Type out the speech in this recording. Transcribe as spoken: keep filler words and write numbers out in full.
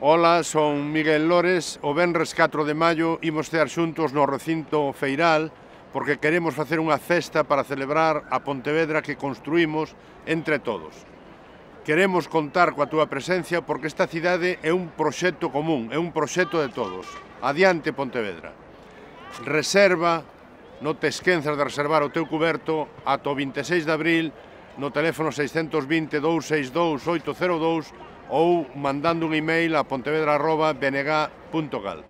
Ola, son Miguel Lores. O venres catro de maio imos estar xuntos no recinto feiral porque queremos facer unha festa para celebrar a Pontevedra que construímos entre todos. Queremos contar coa túa presencia porque esta cidade é un proxecto común, é un proxecto de todos. Adiante, Pontevedra. Reserva, non te esquenzas de reservar o teu cuberto ata o vinte e seis de abril no teléfono seiscentos vinte, dous seis dous, oito cero dous ou mandando un email a pontevedra arroba b n g punto gal.